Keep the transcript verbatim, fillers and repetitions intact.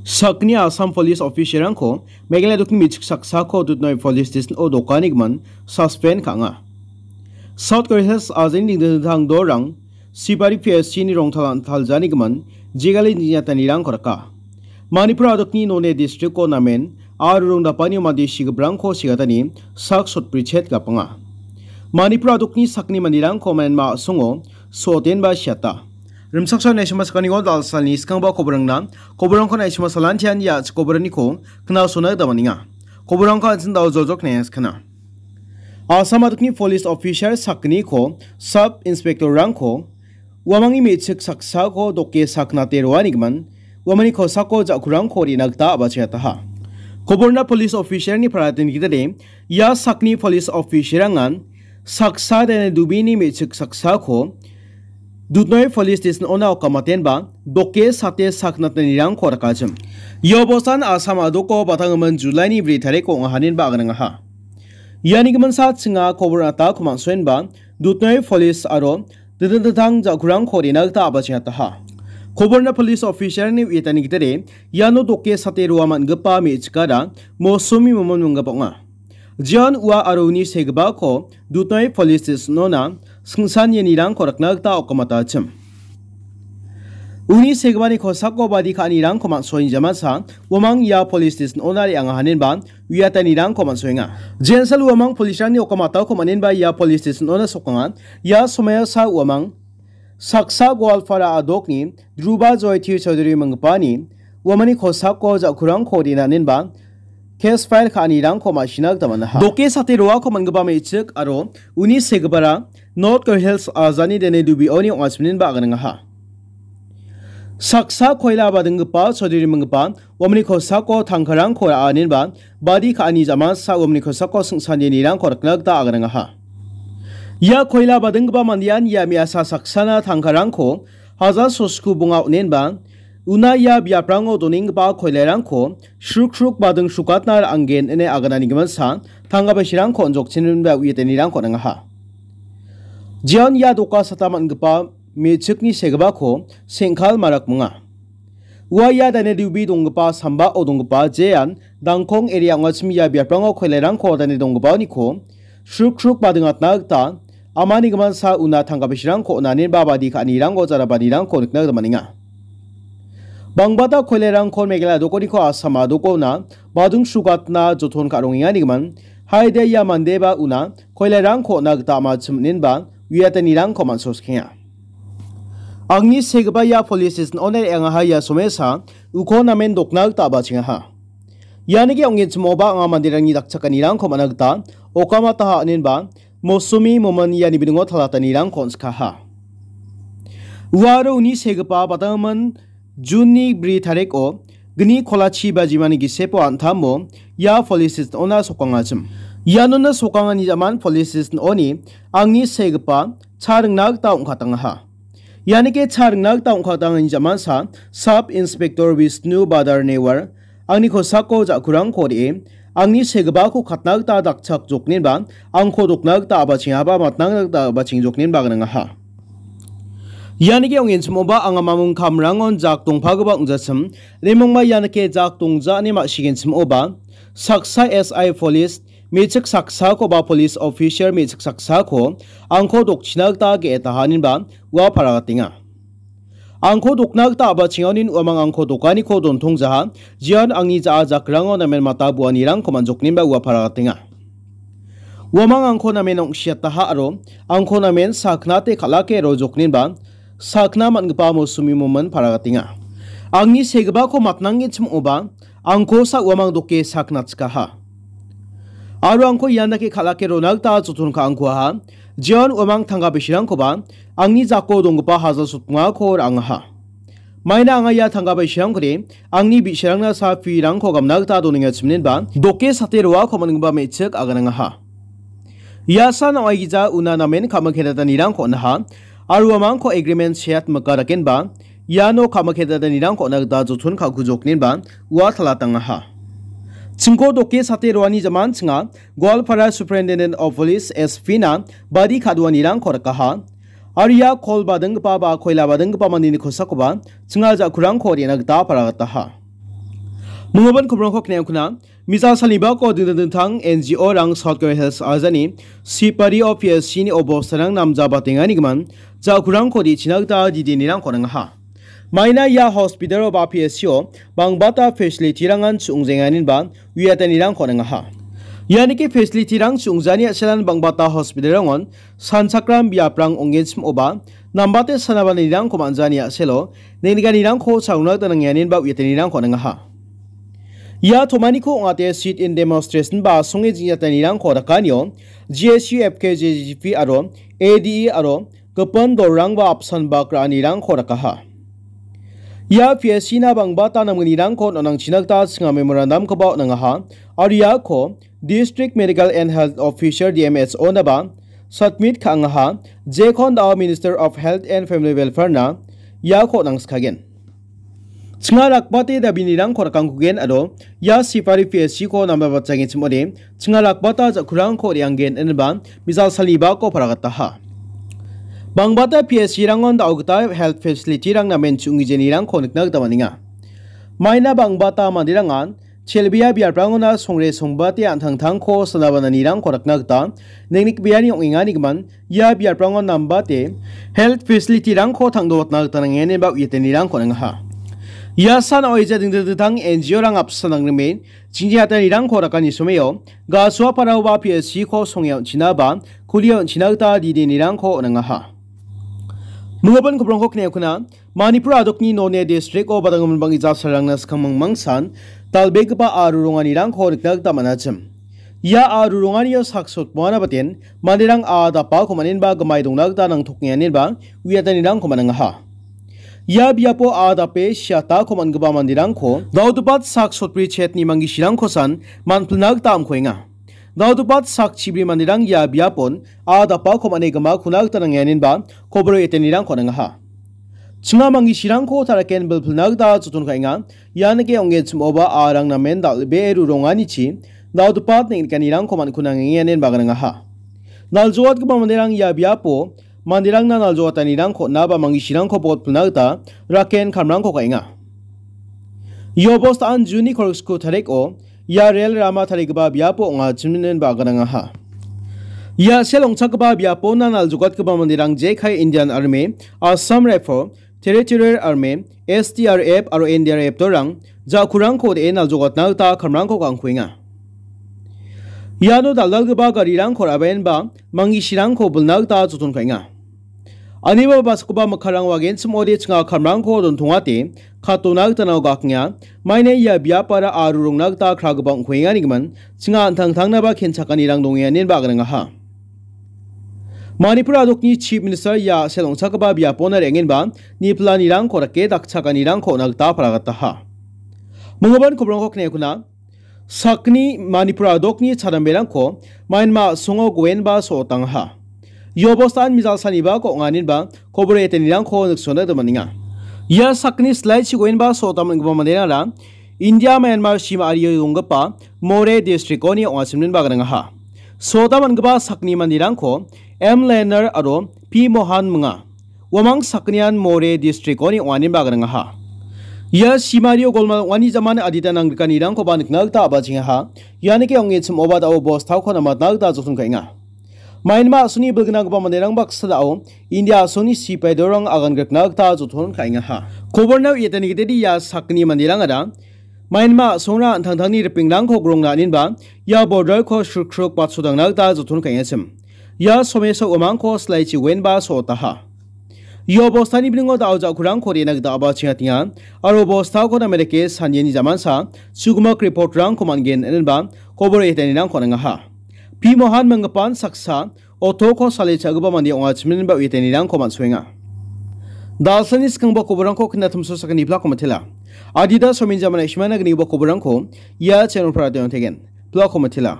Sakgni Assam Police Officer-rangko Meghalaya dokni me·chik saksako Dutnoi Police Station-o dokanigimin suspend ka·enga. South Korea Hills ajeni dingtang dingtang dorang Sibari P S C-ni rongtalan taljanigimin jegali nina tanirangko raka. Manipur adokni Noney district-o namen aro rongdapani mande sigiprangko segatani sak sotbrichet gapanga. Manipur adokni sakni manderangko Myanmar a·songo so·otenba siata. Rimchaksoa naisima sakaniko dalsalni skangba koborangna, koborangko naisima salantian ia koboraniko knasona gita man·enga. Koborangko an·ching dal joljok naias kana. Assam adokni police officer sakgniko sub inspector-rangko uamangni me·chik saksako doke saknate roanigimin uamangni kosako ja·kurangko re·na gita a·bachengataha. Koborna police officer-ni paratengtide ia sakni police officer-rangan saksa dene dubini me·chik saksako Dutnoi Police Station-ona okamatenba doke sate saknatanirangko rakachim. Ia obosan Assam adoko batanggimin July-ni bri tariko ong·ahaninba aganangaha. Iani giminsa chinga kobor atako man·soenba Dutnoi Police aro dingtang dingtang ja·kurangko re·na gita a·bachengataha. Koborna police officer-ni uiatani gitade iano doke sate roa man·gipa me·chikara Mosumi Momon minggipa ong·a. Jian ua aro uni segipako Dutnoi Police Station-ona singsan ianirangko rakna gita okamatachim. Uni segipani kosako badi ka·anirangko man·soenjamansa uamang ia police station-ona re·angahaninba uiatanirangko man·soenga. Jensal uamang police-rangni okamatako man·enba ia police station-ona sokanga. Ia somoiasa uamang saksa Goalpara adokni Dhruba Joyti Chaudhary minggipani uamangni kosako ja·kurangko re·nanenba case file ka·anirangko ma·sina gita man·aha. Doke sate roako man·gipa me·chik aro uni segipara North Korea Hills ajani dene dubioni ong·achimninba aganangaha. Saksa koila badinggipa Chaudhary minggipa uamangni kosako tangkarangko ra·anenba badi ka·ani jamansa uamangni kosako singsan ianirangko rakna gita aganangaha. Ia koila badinggipa mandean ia me·asa saksana tangkarangko hajar sosku bonga on·enba una ia biaprango donenggipa koilairangko srukruk bading srukatna ra·angen ine agananigiminsa tangka bisirangko on·jokchinenba uiatanirangko on·angaha. Jian ia doka sata man·gipa me·chikni segipako Sengkal Marak minga. Ua ia dane dubi donggipa sambao donggipa jean Dangkong area ong·achim ia biaprango koilairangko dane donggipaoniko srukruk badingatna gita amani giminsa una tangka bisirangko on·anenba badi ka·anirangko jarabanirangko nikna gita man·enga. Bangbata koilairangko Meghalaya dokoniko Assam dokona bading srugatna joton ka·rongenganigimin haide ia mandeba una koilairangko on·na gita amachim on·enba uiatanirangko man·soskenga. Angni segipa ia police station-ona re·angaha ia somesa uko namen dokna gita a·bachengaha. Ianike ong·genchimoba anga manderangni dakchakanirangko man·a gita okamataha on·enba Mosumi Momon iani bidingo talatanirangko on·sikaha. Uaro uni segipa batanggimin June-ni bri tariko gni kolachi bajimani gisepo an·tamo ia police station-ona sokangachim. Ianona sokangani jaman police station-oni angni segipa cha ringna gita ong·katangaha. Ianike cha ringna gita ong·katangani jamansa Sub Inspector Vishnu Badar Newar angni kosako ja·kurangko re·e, angni segipako katna gita dakchakjoknenba angko dokna gita a·bachengaba matna gita a·bachengjoknenba gnangaha. Ianike ong·enchimoba anga mamung kamrangon jak dongpagipa ong·jachim, remongba ianike jak dongja ine ma·sigenchimoba, saksa S I police, me·chik saksakoba police officer me·chik saksako angko dokchina gita ge·etaha inenba ua paragatenga. Angko dokna gita a·bachengaonin uamang angko dokaniko dontongjaha, jian angni ja·a jakrango namen mata buanirangko man·joknenba ua paragatenga. Uamang angko namen ong·siataha aro angko namen saknate kal·ake rojoknenba sakna man·gipa mosumi momen paragatenga. Angni segipako matnanggenchim ong·oba, angkosa uamang doke saknachikaha. Aro angko ian dake kal·ake rona gita joton ka·angkuaha. Jion uamang tangka bisirangkoba angni jako donggipa hajal sotbongako ra·angaha. Maina anga ia tangka bisirangkode angni bi·sarangna sa pirangko gamna gita donengachiminenba doke sate roako man·gipa me·chik aganangaha. Ia san ong·aigija una namen ka·mikedatanirangko on·aha, aro uamangko agreement seat mika dakenba, iano ka·mikedatanirangko on·a gita joton ka·kujoknenba ua talatangaha. Chingko doke sate roani jaman chinga Goalpara Superintendent of Police S P na badi kaduanirangko rikaha. Aro ia kol badinggipa ba koila badinggipa mandeni kosakoba chinga ja·kurangko re·na gita paragataha. Minggipa kobrangko kniaukna, misa salibako dingtang dingtang N G O-rang South Korea Hills ajani Sipari-o P S C-ni obostarang namjabatenganigimin, jakurangko dichina gita didinirangko ningaha. Maina ia hospital-o ba P S C-o bangbata facility-rangan chungjenganinba uiatanirangko ningaha. Ianiki facility-rang chungjani a·selan bangbata hospital-rangon sanchakram biaprang ong·genchim oba, nambate sanabanirangko manjani a·selo, nengnikanirangko chagna gita nangianinba uiatanirangko ningaha. Ia tomaniko ong·ate sit-in demonstration ba songe jingjatanirangko dakanio G S U, F K J G P aro A D E aro gipin dolrangba apsan bak ra·anirangko dakaha. Ia P S C-na bangbata namgnirangko on·angchina gita chinga memorandum-koba on·angaha, aro iako District Medical and Health Officer, D M H O-naba submit ka·angaha, jekon da·o Minister of Health and Family Welfare-na iako on·angskagen. Chinga rakbate dabinirangko rakangkugen aro ia Sipari P S C-ko namba batjangenchim ode, chinga rakbata jakurangko re·anggen ineba misa salibako paragataha. Bangbata P S C-rangon da·o gita health facility-rang namen chungijenirangko nikna gita man·enga. Maina bangbata manderangan chelbea biaprangona songre songbate an·tangtangko sanabananirangko rakna gita nengnikbeani ong·enganigimin ia biaprangon nambate health facility-rangko tangdoatna gita nangeneba uiatanirangko ningaha. Ia san oija dingtang dingtang N G O-rang apsan nangrime jingjatanirangko rakani someo Gasuapara-oba P S C-ko songe on·china ba kulia on·china gita didinirangko on·angaha. Minggipa kobrangko kniaukna, Manipur adokni Noney district-o badanggimin bang·gija salrangna skang mangmangsan dal·begipa a·rurunganirangko nikna gita man·achim. Ia a·rurunganio sak sotmoana baten manderang a·a dapako man·enba gimai dongna gita nangtokenganinba uiatanirangko man·angaha. Ia biapo a·a dape siatako man·gipa manderangko daodopat sak sotbri chetni manggisirangkosan man·pilna gita amkoenga. Daodopat sak chibri manderang ia biapon a·a dapako man·e gimakona gita nangenganinba koboro etenirangko ningaha. Chinga manggisirangko taraken bilpilna gita joton ka·enga. Ianike ong·genchim oba a·arang namen dal·bee ruronganichi daodopat neng·nikanirangko man·kuna nangenganinba ningaha. Naljoatgipa manderang ia biapo manderangna naljoatanirangko on·a ba manggisirangko botpilna gita raken kamrangko ka·enga. Ia bostaan Juni kolgriksku tariko ia rel rama tarigipa biapo ong·achim inenba aganangaha. Ia sel ong·chakgipa biapona naljogatgipa manderang jekai Indian Army, Assam Rifle, Territorial Army, S D R F aro N D R F dorang jakurangko de·e naljogatna gita kamrangko ka·angkuenga. Iano dal·dalgipa garirangko ra·baenba manggisirangko bilna gita joton ka·enga. Aniba baskoba mikkangrang wagenchim ode chinga kamrangko dontongate katona gita nao gakenga. Maine ia biapara a·rurungna gita kragipa ong·kuenganigimin chinga an·tangtangnaba kenchakanirang dongenganinba aganangaha. Manipur adokni Chief Minister ia sel ong·chakgipa biapona re·angenba niplanirangko rike dakchakanirangko on·a gita paragataha. Minggipa kobrangko kniaukna, sakni Manipur adokni chadamberangko Myanmar a·songo goenba so·otangaha. Ia bostaan mijal sanibako ong·aninba kobor etenirangko niksona gita man·enga. Ia sakni silaichi goenba so·otaman·gipa manderangara India Myanmar sima ario donggipa Moreh district-oni ong·achimninba gnangaha. So·otaman·gipa sakni manderangko M Lenar aro P Mohan minga. Uamang sakgnian Moreh district-oni ong·aninba gnangaha. Ia simario golmal ong·ani jaman adita nangrikanirangkoba nikna gita a·bachengaha. Ianike ong·e chim·oba da·o bostako namatna gita joton ka·enga. Myanmar a·songni bilgnanggipa manderang baksa da·o India a·songni sipaidorang agan grikna gita joton ka·engaha. Kobornao ia·tani gitedi ia sakgni manderangara Myanmar a·songra an·tangtangni ripengrangko grongna aninba ia border-ko srukruk batsodangna gita joton ka·engachim. Ia someso uamangko silaichi wenba so·otaha. Ia bostani biningo da·o ja·kurangko re·na gita a·bachengatenga aro bostako namerike saniani jamansa chugimak report-rangko man·gen inenba kobor etanirangko nangaha. P Mohan minggipan saksa otoko sale cha·gipa mande ong·a chiminba uiatanirangko man·soenga. Dalsani skangba koborangko knatimso sakani plako matela. Adita somin jamana ishmana gnigipa koborangko ia channel-para dongtegen. Plako matela.